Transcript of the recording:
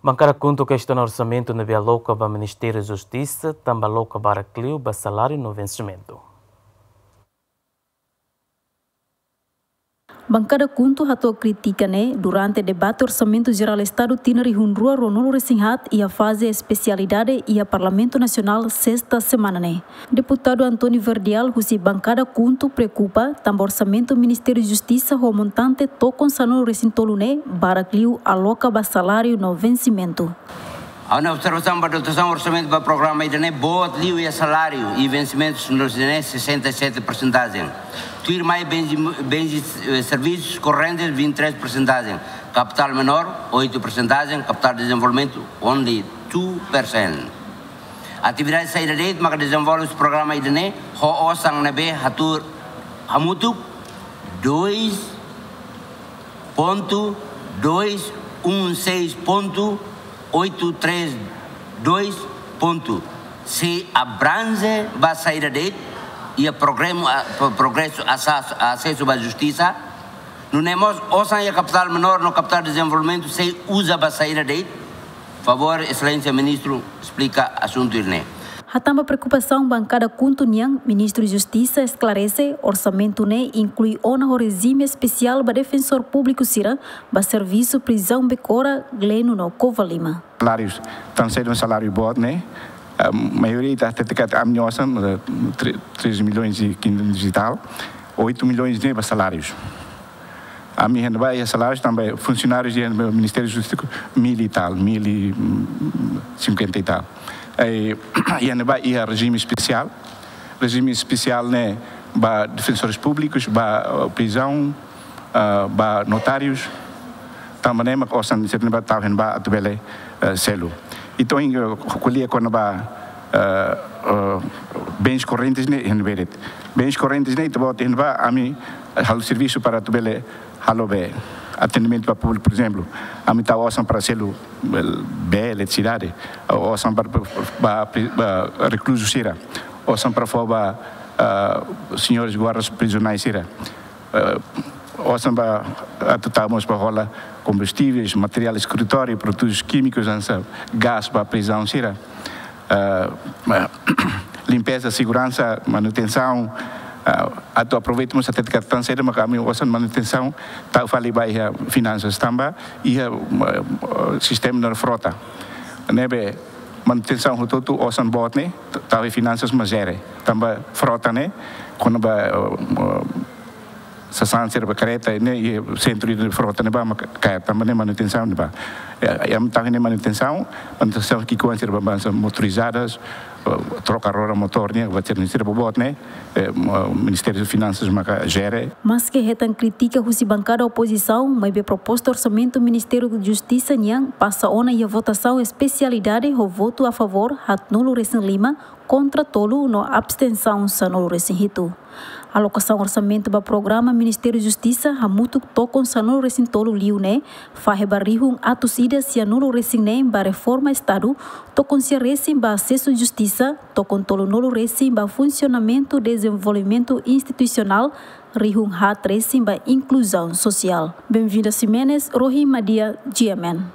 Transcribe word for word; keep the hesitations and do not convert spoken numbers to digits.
Bankada KHUNTO kestiona orsamentu ne'ebé aloka ba Ministériu Justisa, tanba aloka barak liu ba saláriu no vensimentu. Bankada KHUNTO hato'o krítika ne'e durante debate Orsamentu Jerál Estadu tinan rihun rua ruanulu resin haat iha faze espesialidade iha Parlamentu Nasionál, sesta semana ne'e. Deputadu António Verdial husi bankada KHUNTO preokupa tanba orsamentu Ministériu Justisa ho montante tokon sanulu resin tolu ne'e barak liu aloka ba saláriu no vensimentu. Ha'u-nia observasaun ba dotasaun orsamentu ba programa ida-ne'e, boot liu iha saláriu i vensimentu sanulu resin ne'e, sessenta e sete persentajen. Tuirmai bens, bens i, eh, serviços correntes, vinte e três persentajen. Kapitál menór, oito persentajen. Kapitál dezenvolvimentu, only two percent. Atividade saida de'it maka dezenvolve programa ida-ne'e ho osan ne'ebé hatuur hamutuk dois ponto dois um seis ponto oito três dois ponto. Se abrange ba saida de'it, iha programa, ah, pro-, progresu, asas-, asesu ba justisa. Nune'e mós osan iha kapitál menór no kapitál dezenvolvimentu sei uza ba saida de'it? Favór, Exelénsia Ministru, esplika asuntu ida-ne'e. Hatán ba preokupasaun bankada KHUNTO nian, Ministru Justisa esklarese, orsamentu ne'e inklui ona ho rejime espesiál ba defensór públiku sira ba servisu prizaun Becora, Gleno no Covalima. Salárius, tan sedu saláriu boot ne'e, eh, maioria ita hatete katak ami-nia osan, eh, tre-, três milhões e quinhentos e tal, oito milhões ne'e ba salárius. Ami iha ne'ebá iha salárius tanba funsionárius iha ne'ebá Ministériu Justisa mil e tal, mil e cinquenta e tal. Eh, iha ne'ebá iha rejime espesiál, rejime espesiál ne'e ba defensores públicos, ba, eh, prizaun, ah, ba notárius, tanba ne'e mak osan sira ne'ebá tau iha ne'ebá atu bele, eh, selu. Entaun, eh, ko'alia kona-ba, eh, eh, bens correntes ne'e iha ne'ebé de'it. Bens correntes ne'e ita-boot iha ne'ebá ami halo servisu para atu bele halo bee, atendimentu ba públiku, por ezemplu, ami tau osan para selu, eh, bee, eletrisidade, osan para, para, para, para rekluzu sira, osan para fó ba, ah, señores guardas prizionais sira. Eh, osan ba atu tau mós ba hola kombustíveis, materiál eskritóriu, produtus kímikus, hanesan gás ba prizaun sira. Eh, limpeza, seguransa, manutensaun, eh, atu aproveita mós hatete katak tan sedu maka ami osan manutensaun tau fali ba iha finansas tanba iha, eh, sistema no frota. Ne'ebé manutensaun hotu-hotu osan boot ne'e tau iha finansas mak jere. Tanba frota ne'e kona-ba, eh, sasán sira ba kareta ne'e, i sentru de frota ne'ebá mak kaer, tanba ne'e manutensaun ne'ebá. Ya, ya, entaun ne'e manutensaun, manutensaun ki'ikoan sira ba hanesan motorizadas, eh, troka roda motór ne'e, ba sira, sira boboot ne'e, eh, mo-, Ministériu Finansas maka jere. Maske hetan krítika husi bankada opozisaun, maibé proposta orsamentu Ministériu Justisa nian pasa ona iha votasaun espesialidade ho votu a favór haatnulu resin lima, kontra tolu no abstensaun sanulu resin hitu. Alokasaun orsamentu ba programa Ministériu Justisa hamutuk tokon sanulu resin tolu liu ne'e, fahe ba rihun atus ida sianulu resin neen ba reforma Estadu, tokon sia resin ba asesu justisa, tokon tolunulu resin ba funsionamentu dezenvolvimentu institusionál, rihun haat resin ba inkluzaun sosiál. Benvinda Ximenes, Rohi Madia, G M N.